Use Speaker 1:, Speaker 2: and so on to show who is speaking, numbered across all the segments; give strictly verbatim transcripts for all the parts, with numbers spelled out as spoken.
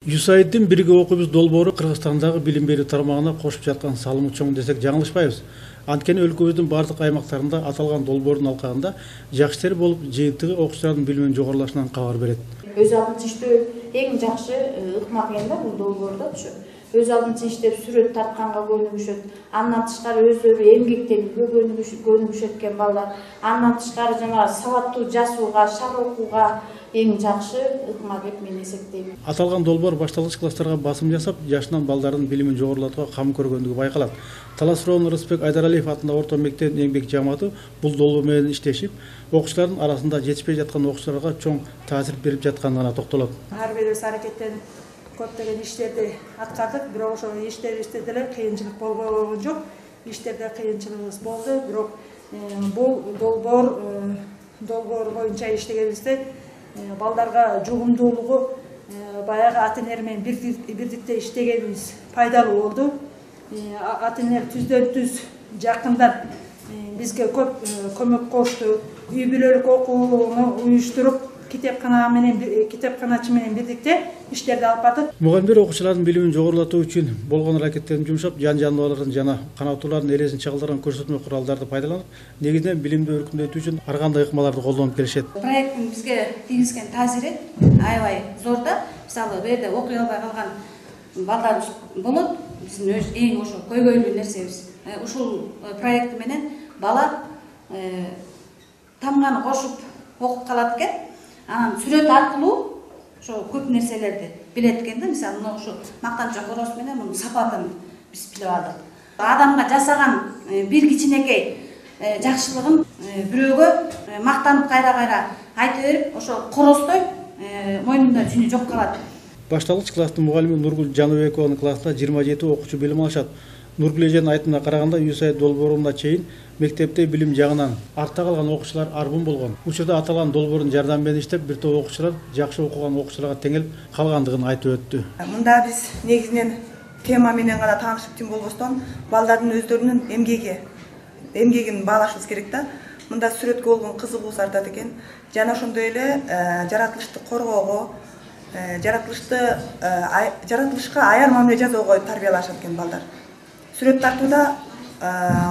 Speaker 1: ЮСАИДдин бирге окуйбуз долбоору Кыргызстандагы билим берүү тармагына кошуп жаткан салымы чоң десек жаңылышпайбыз. Анткени өлкөбүздүн бардык аймактарында аталган долбоордун алкагында жакшы ишер болуп, жыйынтыгы окуучулардын билиминин жогорулашынан кабар берет.
Speaker 2: Өз алдынча иштөө эң жакшы ыкма экен да бул долбоордо ушу. Өз алдынча иштеп сүрөт тартканга көнүгүшөт. Андан тышкары өздөрү эмгектенүүгө көнүгүшөт экен балдар. Андан тышкары жана сабаттуу жазууга, шаар окууга эң жакшы ыкма деп мен эсептейм.
Speaker 1: Аталган долбоор башталгыч класстарга басым жасап, жашынан балдардын билимин жогорулатууга кам көргөндүгү байкалат. Талас Роон Рысбек Айдаралиев атындагы орто мектептин эмгек жамааты бул долбоор менен иштешип, окуучулардын арасында жетишпей жаткан окуучуларга чоң таасир берип жатканына токтолот.
Speaker 3: Ар бирибиз аракеттенип көптөгөн иштерди аткардык, бирок ошо иштерибизде деле кыйынчылык болбогон жок. Иштерде кыйынчылыгыбыз болду, бирок бул долбоор долбоор боюнча иштегенибизде балдарга жугумдуулугу баягы ата-энелер менен бирдикте иштегенибиз пайдалуу болду. Ата-энелер түздөн түз жакындан бизге көп көмөк кошту. Үй бүлөлүк окууну уюштуруп, китепкана менен китепканачы менен бирдикте иштерди алып бардык.
Speaker 1: Мугалимдер окуучулардын билимин жогорулатуу үчүн болгон аракеттерин жумшап, жан жаныбарлардын жана канаттуулардын элесин чагылдырган көрсөтмө куралдарды пайдаланып, негизинен билимди өркүндөтүү үчүн ар кандай ыкмаларды колдонуп келишет.
Speaker 4: Проекттин бизге тийгизген таасири аябай зор да. Мисалы, бу жерде окуй албай калган балдар болот. Биздин эң ошо көйгөйлүү нерсебиз. Ушул проект менен бала тамганы кошуп окуп калат экен. Анан сүрөт аркылуу ошо көп нерселерди билет экен да. Мисалы, мына ошо мактанча короз менен мунун сапатын биз билип алдык. Адамга жасаган бир кичинекей жакшылыгын бирөөгө мактанып кайра-кайра айта берип, ошо корозтой мойнунда жүнү жок калат.
Speaker 1: Башталгыч класстын мугалими Нургул Жаныбекованын классында жыйырма жети окуучу билим алышат. Нургул эженин айтымына караганда, ЮСАИД долбооруна чейин мектепте билим жагынан артта калган окуучулар арбын болгон. Учурда аталган долбоордун жардамы менен иштеп, бир топ окуучулар жакшы окуган окуучуларга теңелип калгандыгын айтып өттү.
Speaker 5: Мында биз негизинен тема менен гана таанышып тим болбостон, балдардын өздөрүнүн эмгеги, эмгегин баалашыбыз керек да. Мында сүрөткө болгон кызыгуусу артат экен. Жана ошондой эле жаратылышты коргоого, жаратылышты жаратылышка аяр мамиле жасоого тарбиялашат экен балдар. Сүрөт тартууда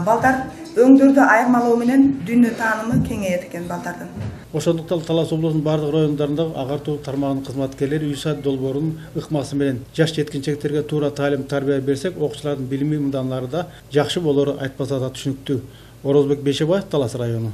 Speaker 5: балдар өңдөрдү айырмалоо менен дүйнө таанымы кеңейет экен балдардын.
Speaker 1: Ошондуктан Талас облусунун бардык райондорунда агартуу тармагынын кызматкерлери ЮСАИД долбоорунун ыкмасы менен жаш жеткинчектерге туура таалим тарбия берсек, окуучулардын билими мындан ары да жакшы болору айтпаса да түшүнүктүү. Орозбек Бейшебаев, Талас району.